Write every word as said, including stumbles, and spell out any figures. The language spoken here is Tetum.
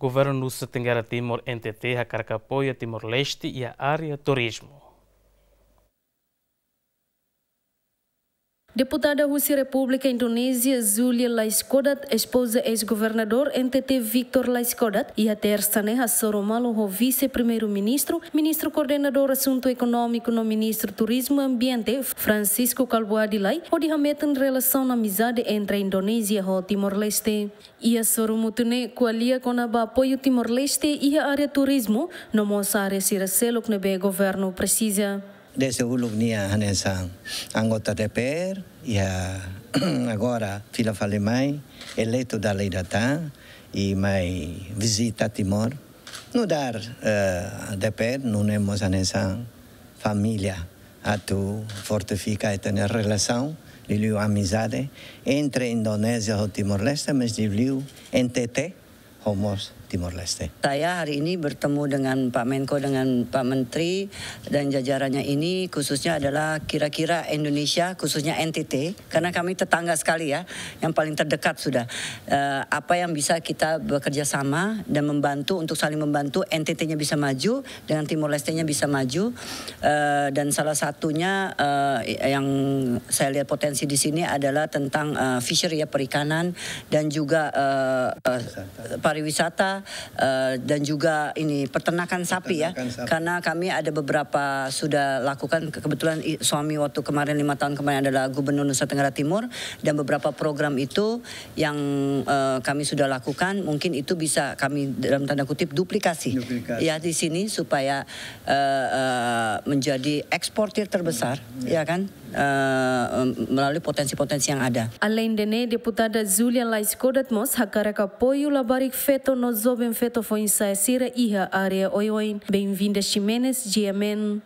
Governu Nusa Tenggara Timur, N T T, hakarak apoiu Timor-Leste iha área turizmu. Deputada husi Repúblika Indonézia, Zulia Laiskodat, espoza eis-governadór N T T Victor Laiskodat, iha Tersa ne'e hasoru malu ho Vise-Primeiru-Ministru, Ministru Koordenadór Asuntu Ekonómiku no Ministru Turizmu Ambiente, Francisco Kalbuadi Lay, hodi hametin relasaun amizade entre Indonézia ho Timor-Leste. Iha sorumutu ne'e ko'alia kona-ba apoiu Timor-Leste iha área turizmu, no mós área sira seluk ne'ebé governu presiza. Dezde uluk nia hanesan anggota D P R, iha agora fila fali mai, eleitu dala ida tan, i mai vizita Timor. Nu'udar, eh, D P R, nune'e mós hanesan família atu fortifika ita-nia relasaun, liuliu amizade entre Indonézia ho Timor-Leste, mas liuliu N T T ho mós Timor-Leste. Saya hari ini bertemu dengan Pak Menko, dengan Pak Menteri dan jajarannya ini, khususnya adalah kira-kira Indonesia, khususnya N T T, karena kami tetangga sekali ya, yang paling terdekat sudah. Eh, apa yang bisa kita bekerja sama dan membantu, untuk saling membantu, N T T-nya bisa maju, dengan Timor Leste-nya bisa maju. Eh, dan salah satunya, eh, yang saya lihat potensi di sini adalah tentang, eh, fishery ya, perikanan, dan juga, eh, eh, pariwisata, eh, dan juga ini peternakan sapi ya. Peternakan sapi. Karena kami ada beberapa sudah lakukan, ke-, kebetulan i-, suami waktu kemarin, lima tahun kemarin, adalah Gubernur Nusa Tenggara Timur, dan beberapa program itu yang, eh, kami sudah lakukan, mungkin itu bisa kami, dalam tanda kutip, duplikasi. Duplikasi. Ya, di sini supaya, eh, eh, menjadi eksportir terbesar, ya kan? Eh, melalui potensi-potensi yang ada. Aleinde ne'e, Deputada Zulia Laiskodat mós hakarak apoiu labarik feto no joven feto foin-sa'e sira iha área oioin. Benvinda Ximenes, G M N.